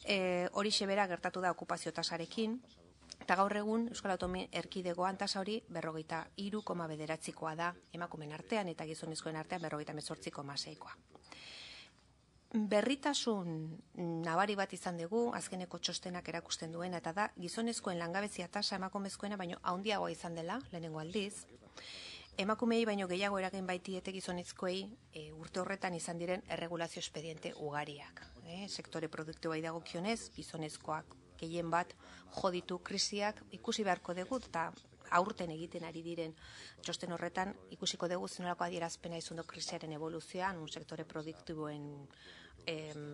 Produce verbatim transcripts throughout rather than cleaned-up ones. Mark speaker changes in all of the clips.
Speaker 1: E, horixe bera gertatu da okupazio tasarekin, eta gaur egun Euskal Autonomia Erkidegoan tasa hori berrogeita hiru koma bederatzikoa da emakumeen artean eta gizonezkoen artean berrogeita hemezortzi koma seikoa. Berritasun nabari bat izan dugu, azkeneko txostenak erakusten duena, eta da gizonezkoen langabezia tasa emakumezkoena baino handiagoa izan dela, lehenengo aldiz. Emakumei baino gehiago eragin baitiete gizonezkoei e, urte horretan izan diren erregulazio espediente ugariak. E, sektore produktiboai dagokionez, gizonezkoak gehien bat joditu krisiak ikusi beharko dugu, eta aurten egiten ari diren txosten horretan ikusiko dugu zenolako adierazpena izan du krisiaren evoluzioan, un sektore produktiboen em,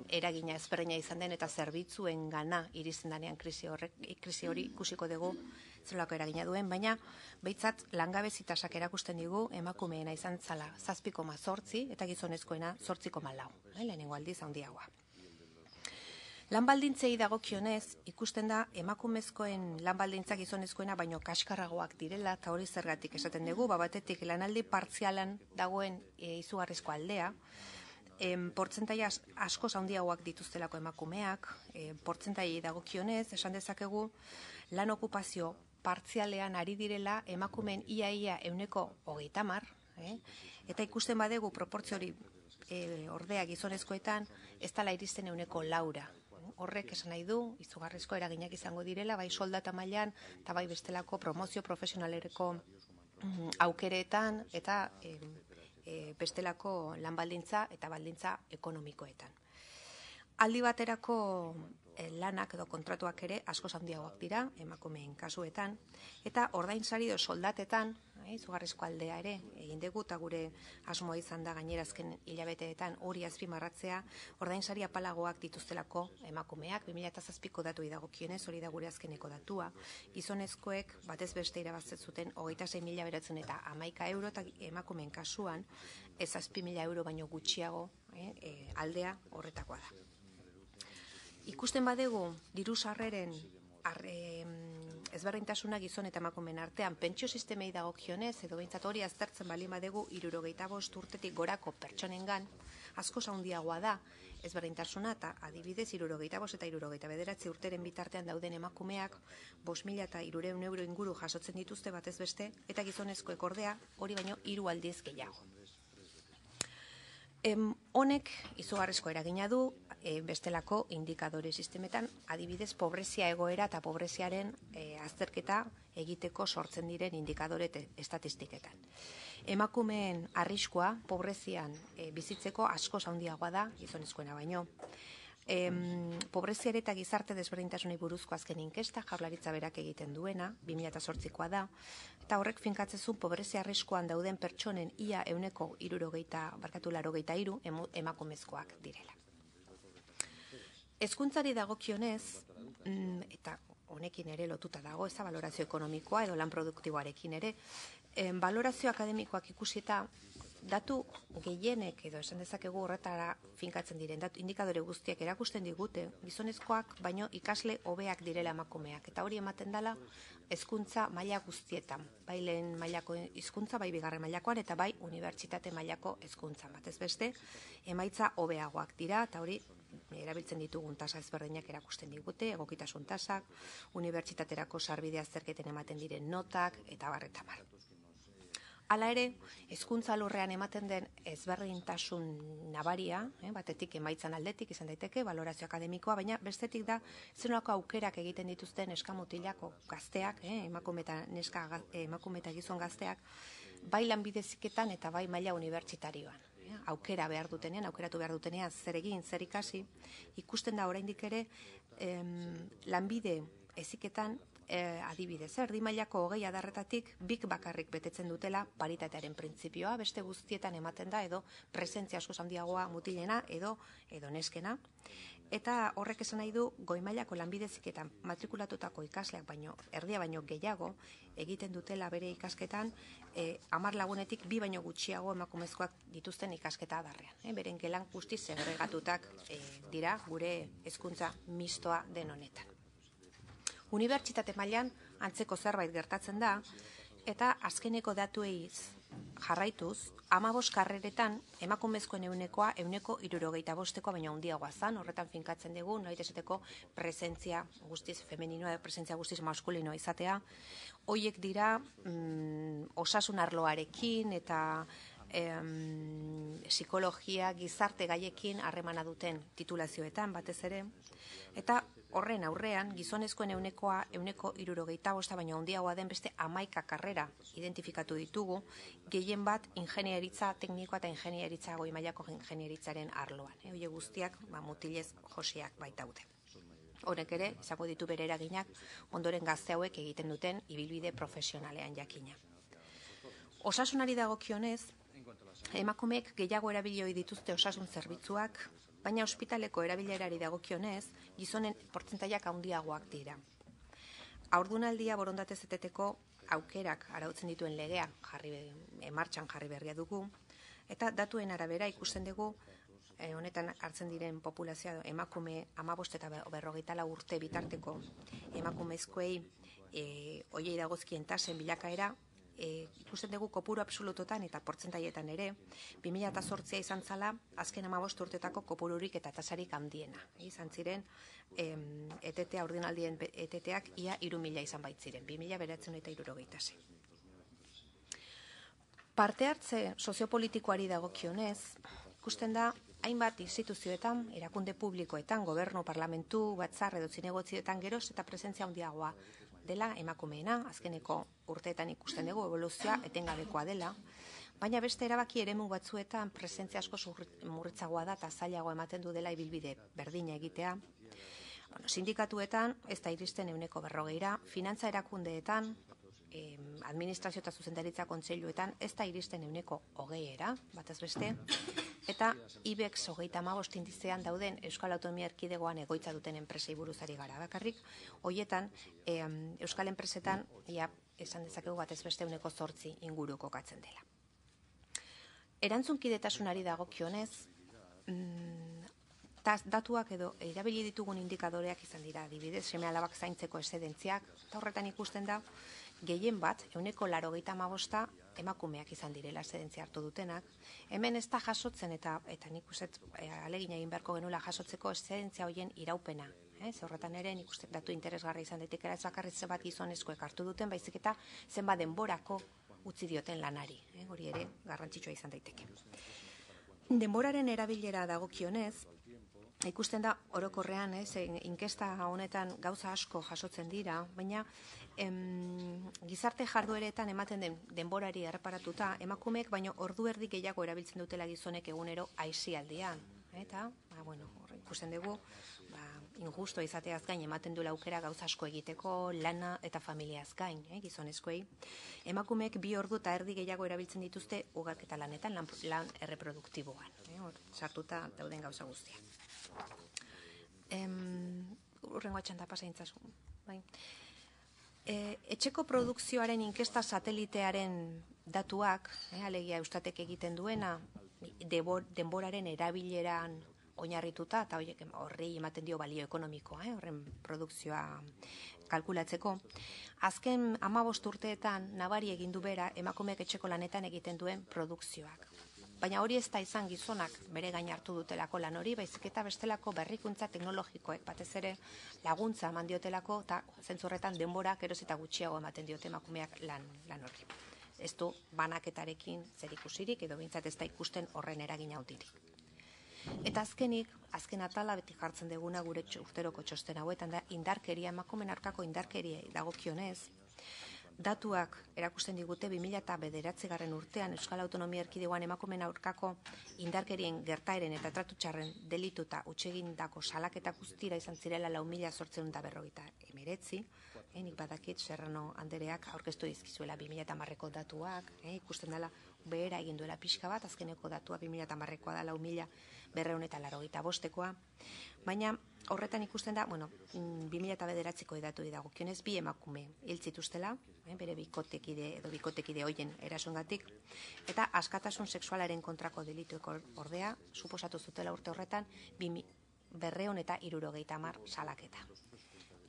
Speaker 1: eragina ezberdina izan den eta zerbitzuen gana iristen danean krisi, horrek, krisi hori ikusiko dugu zenolako eragina duen, baina behitzat langabezi tasak erakusten digu emakumeena izan zala zazpi koma zortzi eta gizonezkoena zortzi koma lau, eh, lehenengo aldiz handiagoa. Lan baldintzei dagokionez, ikusten da emakumezkoen lan baldintzak gizonezkoena baino kaskarragoak direla, eta hori zergatik esaten dugu, batetik lanaldi partzialan dagoen e, izugarrizko aldea, e, portzentaia askoz handiagoak dituztelako emakumeak, e, portzentaiei dagokionez, esan dezakegu, lan okupazio partzialean ari direla emakumeen ia-ia euneko hogeita hamar, eh? Eta ikusten badegu proportzio hori e, ordea gizonezkoetan, ez dela iristen euneko laura. Horrek esan nahi du, izugarrizko eraginak izango direla, bai soldata mailan eta bai bestelako promozio profesionalereko mm, aukeretan eta e, e, bestelako lan baldintza eta baldintza ekonomikoetan. Aldi baterako e, lanak edo kontratuak ere askoz handiagoak dira emakumeen kasuetan, eta ordainsari edo soldatetan, e, izugarrizko aldea ere egin dugu, eta gure asmoa izan da gainerazken hilabeteetan hori azpimarratzea, ordainsari apalagoak dituztelako emakumeak, bi mila zazpiko datu dagokionez, hori da gure azkeneko datua, gizonezkoek batez beste irabazten zuten hogeita sei mila beratzen eta hamaika euro, eta emakumeen kasuan ez zazpi mila euro baino gutxiago e, e, aldea horretakoa da. Ikusten badegu diru sarreren arre, ezberdintasuna gizon eta emakumeen artean pentsio sistemei dagokionez, edo behintzat hori aztertzen balin badegu hirurogeita bost urtetik gorako pertsonengan askoz handiagoa da ezberdintasuna, eta adibidez hirurogeita bost eta hirurogeita bederatzi urteren bitartean dauden emakumeak bost mila eta hirurehun euro inguru jasotzen dituzte batez beste, eta gizonezkoek ordea hori baino hiru aldiz gehiago. Em, honek izugarrizko eragina du e, bestelako indikadore sistemetan, adibidez pobrezia egoera eta pobreziaren e, azterketa egiteko sortzen diren indikadore estatistiketan. Emakumeen arriskua pobrezian e, bizitzeko askoz handiagoa da gizonezkoena baino. Em, pobreziare eta gizarte desberdintasunei buruzko azken inkesta Jaurlaritza berak egiten duena, bi mila zortzikoa da, eta horrek finkatzezun pobrezia arriskuan dauden pertsonen ia euneko hirurogeita, barkatu laurogeita hiru emakumezkoak direla. Hezkuntzari dagokionez, eta honekin ere lotuta dago, ez da balorazio ekonomikoa edo lan produktiboarekin ere, em, balorazio akademikoak ikusita datu gehienek edo esan dezakegu horretara finkatzen diren datu indikadore guztiak erakusten digute gizonezkoak baino ikasle hobeak direla emakumeak, eta hori ematen dela hezkuntza maila guztietan, bai lehen mailako hizkuntza, bai bigarren mailakoan eta bai unibertsitate mailako hezkuntzan. Batez beste emaitza hobeagoak dira, eta hori erabiltzen ditugun tasa ezberdinak erakusten digute, egokitasun tasak, unibertsitaterako sarbide azterketen ematen diren notak eta barreta bar. Hala ere, hezkuntza alorrean ematen den ezberdintasun nabaria, eh, batetik emaitzan aldetik izan daiteke, balorazio akademikoa, baina bestetik da zenolako aukerak egiten dituzten neska-mutilako gazteak, eh, emakume eta neska eh, emakume eta gizon gazteak, bai lanbide heziketan eta bai maila unibertsitarioan. Eh, aukera behar dutenean, aukeratu behar dutenean zer egin, zer ikasi, ikusten da oraindik ere em, lanbide heziketan E, adibidez, erdi mailako hogei adarretatik bik bakarrik betetzen dutela paritatearen printzipioa, beste guztietan ematen da edo presentzia askoz handiagoa mutilena edo edo neskena, eta horrek esan nahi du goi mailako lanbide heziketan matrikulatutako ikasleak baino erdia baino gehiago egiten dutela bere ikasketan e, hamar lagunetik bi baino gutxiago emakumezkoak dituzten ikasketa adarrean, e, beren gelan guztiz segregatutak e, dira gure hezkuntza mistoa den honetan. Unibertsitate mailan antzeko zerbait gertatzen da, eta azkeneko datuei jarraituz, hamabost karreretan emakumezkoen eunekoa euneko hirurogeita bostekoa baina handiagoa zan, horretan finkatzen dugu, nahi esateko presentzia guztiz femeninoa, presentzia guztiz maskulinoa izatea. Hoiek dira mm, osasun arloarekin eta em, psikologia, gizarte gaiekin harremana duten titulazioetan batez ere, eta horren aurrean, gizonezkoen eunekoa euneko hirurogeita bosta baino handiagoa den beste hamaika karrera identifikatu ditugu, gehien bat ingenieritza teknikoa eta ingenieritza goi mailako ingenieritzaren arloan. E, Oie guztiak ba, mutilez josiak baitaude. Horrek ere, izango ditu bere eraginak ondoren gazte hauek egiten duten ibilbide profesionalean jakina. Osasunari dagokionez, emakumeek gehiago erabili ohi dituzte osasun zerbitzuak, baina ospitaleko erabilerari dagokionez, gizonen portzentaiak handiagoak dira. Haurdunaldia borondatez eteteko aukerak arautzen dituen legea jarri martxan jarri berria dugu, eta datuen arabera ikusten dugu eh, honetan hartzen diren populazioa emakume hamabost eta berrogeita lau urte bitarteko emakumezkoei eh, oiei dagozkien tasen bilakaera, E, ikusten dugu kopuru absolutotan eta portzentaietan ere, bi mila zortzia izan zala, azken hamabost urtetako kopururik eta tasarik handiena. E, izan ziren, em, etetea, ordinaldien eteteak ia hiru mila izan baitziren, bi mila bederatziehun eta hirurogeita sei. Parte hartze soziopolitikoari dagokionez, ikusten da, hainbat instituzioetan, erakunde publikoetan, gobernu, parlamentu, batzar edo zinegotzietan geroz eta presentzia handiagoa dela emakumeena, azkeneko urteetan ikusten dugu evoluzioa etengabekoa dela, baina beste erabaki eremu batzuetan presentzia asko murritzagoa da eta zailago ematen du dela ibilbide berdina egitea. Bueno, sindikatuetan ez da iristen euneko berrogeira, finantza erakundeetan, eh, administrazio eta zuzendaritza kontseiluetan ez da iristen euneko hogeiera, batez beste, eta IBEX hogeita hamabost indizean dauden Euskal Autonomia Erkidegoan egoitza duten enpresei buruzari gara bakarrik, hoietan e, Euskal enpresetan ja, esan dezakegu batez beste euneko zortzi inguru kokatzen dela. Erantzunkidetasunari dagokionez, mm, datuak edo erabili ditugun indikadoreak izan dira, adibidez, seme alabak zaintzeko eszedentziak, eta horretan ikusten da, gehien bat, euneko laurogeita hamabosta emakumeak izan direla eszedentzia hartu dutenak. Hemen ez da jasotzen eta eta nik uste alegin egin beharko genuela jasotzeko eszedentzia hoien iraupena. Eh? Horretan ere nik uste datu interesgarri izan daitekela ez bakarrik zenbat gizonezkoek hartu duten, baizik eta zenbat denborako utzi dioten lanari. Eh? Hori ere garrantzitsua izan daiteke. Denboraren erabilera dagokionez, ikusten da orokorrean, ez, inkesta honetan gauza asko jasotzen dira, baina em, gizarte jardueretan ematen den denborari erreparatuta, emakumeek baino ordu erdi gehiago erabiltzen dutela gizonek egunero aisialdian. Eta, ba, bueno, ikusten dugu, ba, injusto izateaz gain ematen duela aukera gauza asko egiteko, lana eta familiaz gain, eh, gizonezkoei. Emakumeek bi ordu eta erdi gehiago erabiltzen dituzte ugalketa lanetan, lan, lan erreproduktiboan, eh, hor, sartuta dauden gauza guztiak. Urrengo atxanta pasaintzazu. Bai. E, etxeko produkzioaren inkesta satelitearen datuak, eh, alegia Eustatek egiten duena, debor, denboraren erabileran oinarrituta, eta horiek horrei ematen dio balio ekonomikoa, eh, horren produkzioa kalkulatzeko. Azken hamabost urteetan nabari egin du bera emakumeek etxeko lanetan egiten duen produkzioak. Baina hori ez da izan gizonak bere gain hartu dutelako lan hori, baizik eta bestelako berrikuntza teknologikoek batez ere laguntza eman diotelako eta zentzurretan denbora geroz eta gutxiago ematen diote emakumeak lan, lan hori. Ez du banaketarekin zer ikusirik edo behintzat ez da ikusten horren eragin handirik. Eta azkenik, azken atala beti jartzen deguna gure urteroko txosten hauetan da indarkeria, emakumeen aurkako indarkeria dagokionez, datuak erakusten digute bi mila bederatzigarren urtean Euskal Autonomia Erkidegoan emakumeen aurkako indarkerien gertaeren eta tratu txarren delitu eta hutsegindako salaketa guztira izan zirela lau mila zortziehun eta berrogeita hemeretzi. Eh, nik badakit Serrano Andereak aurkeztu dizkizuela bi mila hamarreko datuak, eh, ikusten dela behera egin duela pixka bat, azkeneko datua bi mila hamarrekoa da lau mila berrehun eta laurogeita bostekoa, baina horretan ikusten da, bueno, bi mila bederatziko edatu dagokionez bi emakume hil zituztela, eh, bere bikotekide edo bikotekide hoien erasoengatik, eta askatasun sexualaren kontrako delituek ordea suposatu zutela urte horretan berrehun eta hirurogeita hamar salaketa.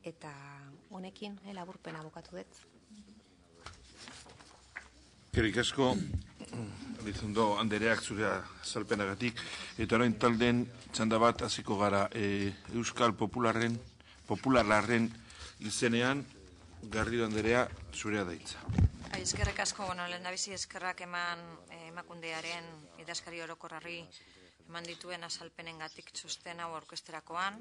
Speaker 1: Eta honekin eh, laburpena bukatu dut.
Speaker 2: Eskerrik asko, Elizondo Andereak zure azalpenagatik, eta orain talden txanda bat hasiko gara e, Euskal Popularren, Popularren izenean, Garrido Anderea zurea daitza.
Speaker 3: Eskerrik asko, bueno, lehendabizi eskerrak eman eh, emakundearen idazkari orokorrari eman dituen azalpenengatik txosten hau aurkezterakoan,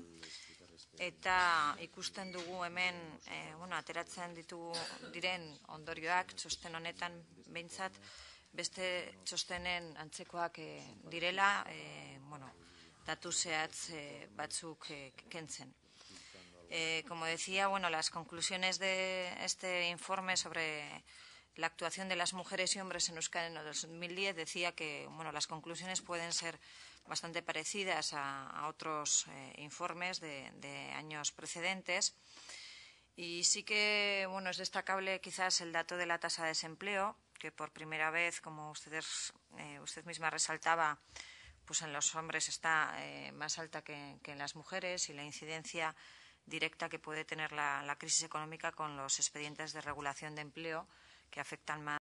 Speaker 3: eta ikusten dugu hemen eh, bueno, ateratzen ditugu diren ondorioak txosten honetan behintzat beste txostenen antzekoak eh, direla, eh, bueno, datu zehatz eh, batzuk eh, kentzen. Eh, como decía, bueno, las conclusiones de este informe sobre la actuación de las mujeres y hombres en Euskadi en el dos mil diez decía que, bueno, las conclusiones pueden ser bastante parecidas a, a otros eh, informes de, de años precedentes. Y sí que, bueno, es destacable quizás el dato de la tasa de desempleo, que por primera vez, como ustedes, eh, usted misma resaltaba, pues en los hombres está eh, más alta que, que en las mujeres, y la incidencia directa que puede tener la, la crisis económica con los expedientes de regulación de empleo, que afectan más